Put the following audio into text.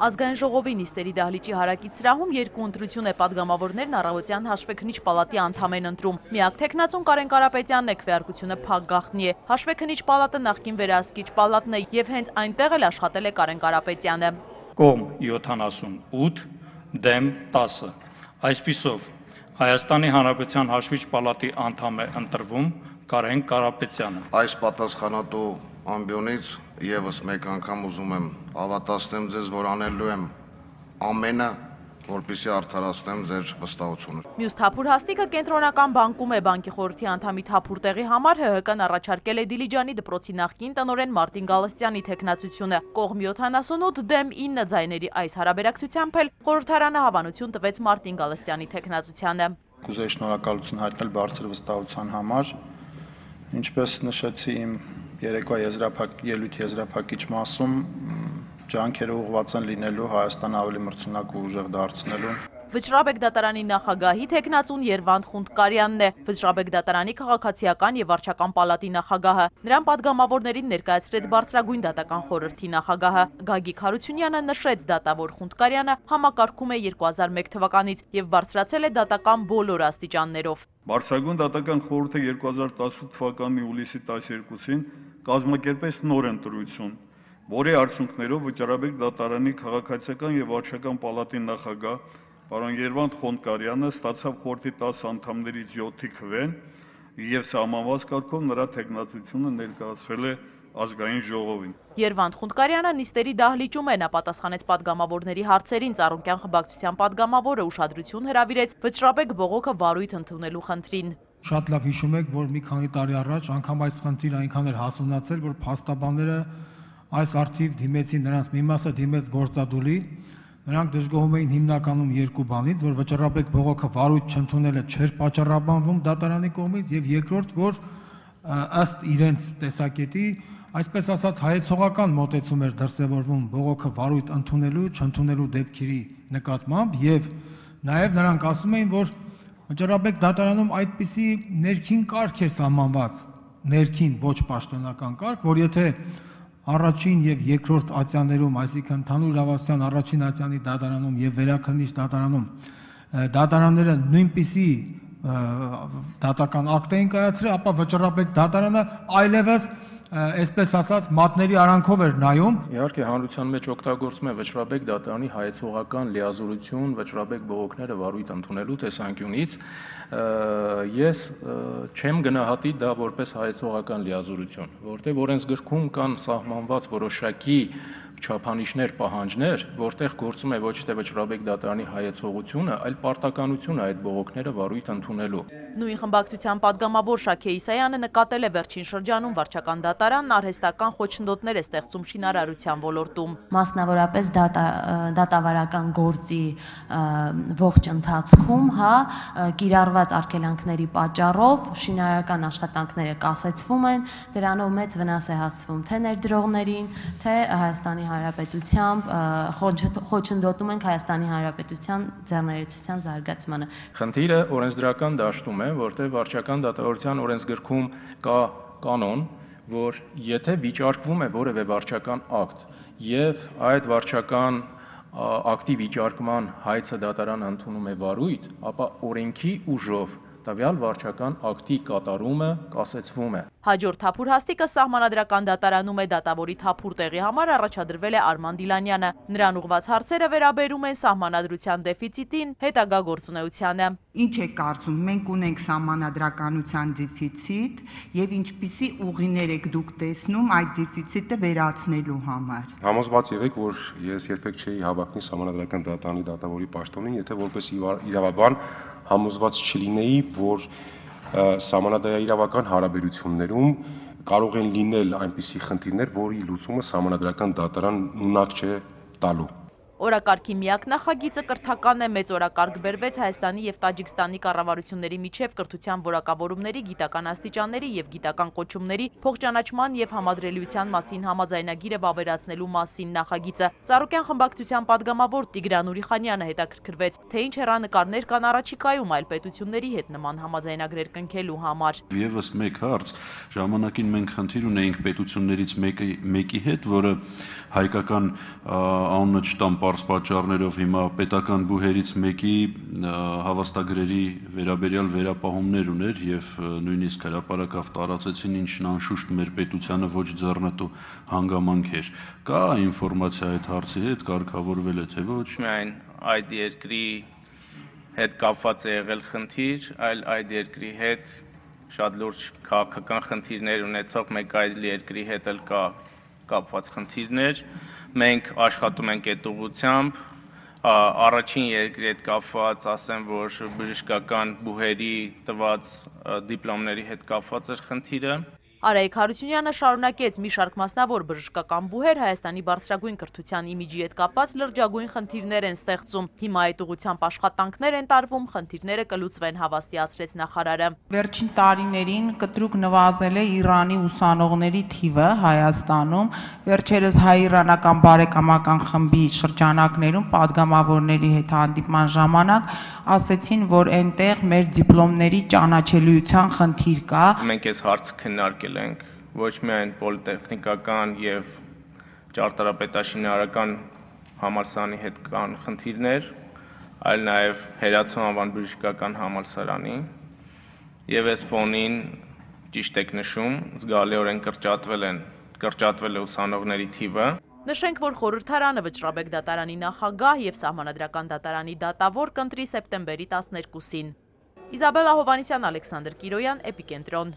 Ազգային ժողովի նիստերի դահլիճի հարակից սրահում երկու ընտրություն է պատգամավորներն առավոտյան հաշվեկնիչ պալատի անդամ են ընտրում։ Միակ թեկնածուն Կարեն Կարապետյանն է, քվեարկությունը փակ գաղտնի է։ Հաշվեկնիչ պալատը նախկին վերահսկիչ պալատն է եւ հենց այնտեղ էլ աշխատել է Կարեն Կարապետյանը։ Կողմ 78, դեմ 10։ Այսպիսով Հայաստանի Հանրապետության հաշվիչ պալատի անդամ է ընտրվում Կարեն Կարապետյանը։ Այս պատասխանատու ամբիոնից եւս մեկ անգամ ուզում եմ ավատացնեմ ձեզ, որ անելու եմ ամենը, որպեսզի արդարացնեմ ձեր վստահությունը։ Մյուս թափուր հաստիկը կենտրոնական բանկում է, բանկի խորհրդի անդամի թափուր տեղի համար ՀՀԿ-ն առաջարկել է Դիլիջանի դպրոցի նախկին տնօրեն Մարտին Գալստյանի թեկնածությունը։ Կողմ 78 դեմ 9 ձայների այս հարաբերակցությամբ էլ խորհրդարանը հավանություն տվեց Մարտին Գալստյանի թեկնածությանը։ Կուզեի շնորհակալություն հայտնել բարձր վստահության համար, ինչպես նշեցի իմ երեկվա ելույթ եզրափակիչ մասում ջանքերը ուղղված են լինելու Հայաստանը ավելի մրցունակ ու ուժեղ դարձնելու։ Վճռաբեկ դատարանի նախագահի թեկնածուն Երվանդ Խունդկարյանն է, Վճռաբեկ դատարանի քաղաքացիական եւ վարչական պալատի նախագահը։ Նրան պատգամավորներին ներկայացրեց բարձրագույն դատական խորհրդի նախագահը։ Գագիկ Հարությունյանը նշեց, դատավոր Խունդկարյանը համակարգում է 2001 թվականից եւ բարձրացել է դատական բոլոր աստիճաններով։ Բարձրագույն դատական խորհուրդը 2018 թվականի հուլիսի 12-ին կազմակերպեց նոր ընտրություն, որի արդյունքներով Վճռաբեկ դատարանի քաղաքացիական եւ վարչական պալատի նախագահ պարոն Երվանդ Խոնդկարյանը ստացավ խորհրդի 10 անդամներից 7-ի քվեն եւ սահմանված կարգով նրա թեկնածությունը ներկայացվել է ազգային ժողովին։ Երվանդ Խունդկարյանը նիստերի դահլիճում է, նա պատասխանեց պատգամավորների հարցերին, Ծառուկյան խմբակցության պատգամավորը ուշադրություն հրավիրեց Վճռաբեկ բողոքը վարույթ ընդունելու խնդրին։ Շատ լավ հիշում եք, որ մի քանի տարի առաջ անգամ այս խնդիրը այնքան էր հասունացել, որ փաստաբանները այս արդիվ դիմեցին, նրանց մի մասը դիմեց գործադուլի, նրանք դժգոհում էին հիմնականում երկու բանից, որ Վճռաբեկ բողոքը վարույթ չընդունելը չէր պատճառաբանվում դատարանի կողմից, եւ երկրորդ, որ ըստ իրենց տեսակետի, այսպես ասած հայեցողական մոտեցում էր դրսևորվում բողոքը վարույթ ընդունելու, չընդունելու դեպքերի նկատմամբ, եւ նաեւ նրանք ասում էին, որ Վճռաբեկ դատարանում այդպիսի ներքին կարգ է սահմանված, ներքին ոչ պաշտոնական կարգ, որ եթե առաջին եւ երկրորդ ատյաններում, այսինքն ընդհանուր իրավասության առաջին ատյանի դատարանում եւ վերաքննիչ դատարանում դատարանները նույնպիսի դատական ակտ էին կայացրել, ապա Վճռաբեկ դատարանը այլևս այսպես ասած մատների արանքով էր նայում։ Իհարկե հանրության մեջ օգտագործում է Վճռաբեկ դատարանի հայեցողական լիազորություն Վճռաբեկ բողոքները վարույթ ընդունելու տեսանկյունից, ես չեմ գնահատի դա որպես հայեցողական լիազորություն, որտեղ օրենսգրքում կան սահմանված որոշակի չափանիշներ, պահանջներ, որտեղ գործում է ոչ թե Վճռաբեկ դատարանի հայեցողությունը, այլ պարտականությունը այդ բողոքները վարույթ ընդունելու։ Նույն խմբակցության պատգամավոր Շաքե Իսայանը նկատել է վերջին շրջանում վարչական դատարանն արհեստական խոչընդոտներ է ստեղծում շինարարության ոլորտում։ Մասնավորապես դատավարական գործի ողջ ընթացքում, կիրառված արգելանքների պատճառով շինարարական աշխատանքները կասեցվում են, դրանով մեծ վնաս է հասցվում թե ներդրողներին, թե Հայաստանի Հանրապետությամբ խոչընդոտում ենք Հայաստանի Հանրապետության ձեռներեցության զարգացմանը։ Խնդիրը օրենսդրական դաշտում է, որտեղ վարչական դատավորության օրենսգրքում կա կանոն, որ եթե վիճարկվում է որևէ վարչական ակտ եւ այդ վարչական ակտի վիճարկման հայցը դատարանը ընդունում է վարույթ, ապա օրենքի ուժով տվյալ վարչական ակտի կատարումը կասեցվում է։ Հաջորդ թափուր հաստիկը սահմանադրական դատարանում է, դատավորի թափուր տեղի համար առաջադրվել է Արման Դիլանյանը։ Նրան ուղղված հարցերը վերաբերում են սահմանադրության դեֆիցիտին, հետագա գործունեությանը։ Ինչ է կարծում, մենք ունենք սահմանադրականության դեֆիցիտ եւ ինչպիսի ուղիներ եք դուք տեսնում այդ դեֆիցիտը վերացնելու համար։ Համոզված եղեք, որ ես երբեք չէի հավակնի սահմանադրական դատարանի դատավորի պաշտոնին, եթե որպես իրավաբան համոզված չլինեի, որ սահմանադրական հարաբերություններում կարող են լինել այնպիսի խնդիրներ, որի լուծումը սահմանադրական դատարանն ունակ չէ տալու։ Օրակարգի միակ նախագիծը կրթական է, մեծ օրակարգ բերվեց Հայաստանի եւ Տաջիկստանի կառավարությունների միջև կրթության որակավորումների, գիտական աստիճանների եւ գիտական կոչումների փոխճանաչման եւ համադրելիության մասին համաձայնագիրը վավերացնելու մասին նախագիծը։ Ծառուկյան խմբակցության պատգամավոր Տիգրան Ուրիխանյանը հետաքրքրվեց, թե ինչ հեռանկարներ կան առաջիկայում այլ պետությունների հետ նման համաձայնագրեր կնքելու համար։ Եվս մեկ հարց, ժամանակին մենք խնդիր ունեինք պետություններից մեկի հետ, որը հայկական անունը չտամ պարզ պատճառներով հիմա պետական բուհերից մեկի հավաստագրերի վերաբերյալ վերապահումներ ուներ եւ նույնիսկ հրապարակավ տարածեցին, ինչն անշուշտ մեր պետությանը ոչ ձեռնտու հանգամանք էր։ Կա ինֆորմացիա այդ հարցի հետ, կարգավորվել է թե ոչ։ Միայն այդ երկրի հետ կապված է եղել խնդիր, այլ այդ երկրի հետ շատ լուրջ քաղաքական խնդիրներ ունեցող մեկ այլ երկրի հետ էլ կա կապված խնդիրներ, մենք աշխատում ենք այդ ուղղությամբ, առաջին երկրի հետ կապված, ասեմ, որ բժշկական բուհերի տված դիպլոմների հետ կապված էր խնդիրը։ Արայիկ Հարությունյանը շարունակեց մի շարք մասնավոր բժշկական բուհեր Հայաստանի բարձրագույն կրթության իմիջի հետ կապված լրջագույն խնդիրներ են ստեղծում։ Հիմա այդ ուղղությամբ աշխատանքներ են տարվում, խնդիրները կլուծվեն, հավաստիացրեց նախարարը։ Վերջին տարիներին կտրուկ նվազել է Իրանի ուսանողների թիվը Հայաստանում։ Վերջերս հայ-իրանական բարեկամական խմբի շրջանակներում падգամավորների հետ հանդիպման ժամանակ ասեցին, որ այնտեղ մեր դիպլոմների ճանաչելիության խնդիր կա։ Մենք այս հարցը քննարկել ենք ոչ միայն պոլիտեխնիկական եւ ճարտարապետաշինարարական համալսարանի հետ կան խնդիրներ, այլ նաեւ Հերացու անվան բժշկական համալսարանի եւ այս ֆոնին ճիշտ եք նշում, զգալիորեն կրճատվել է ուսանողների թիվը։ Նշենք, որ խորհրդարանը Վճռաբեկ դատարանի նախագահ եւ Սահմանադրական դատարանի դատավոր կընտրի սեպտեմբերի 12-ին։ Իզաբելլա Հովհաննիսյան, Ալեքսանդր Կիրոյան, Էպիկենտրոն։